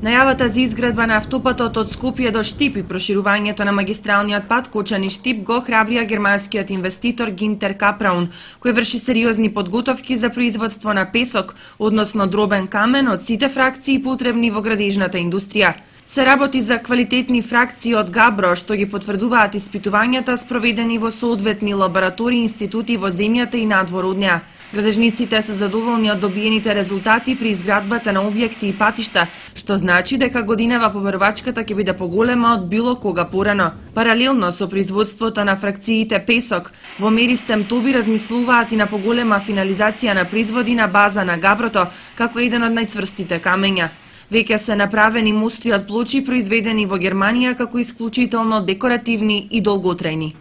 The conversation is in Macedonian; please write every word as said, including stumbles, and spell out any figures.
Најавата за изградба на автопатот од Скопје до Штип и проширувањето на магистралниот пат Кочани-Штип го храбрија германскиот инвеститор Гинтер Капраун, кој врши сериозни подготовки за производство на песок, односно дробен камен од сите фракции потребни во градежната индустрија. Се работи за квалитетни фракции од габро, што ги потврдуваат испитувањата спроведени во соодветни лаборатории и институти во земјата и надвор од неа. Градежниците се задоволни од добиените резултати при изградбата на објекти и патишта, што значи дека годинава побарувачката ќе биде поголема од било кога порано. Паралелно со производството на фракциите песок, во Меристем Тоби размислуваат и на поголема финализација на производи на база на габрото, како еден од најцврстите камења. Веќе се направени мостри од плочи произведени во Германија како исклучително декоративни и долготрајни.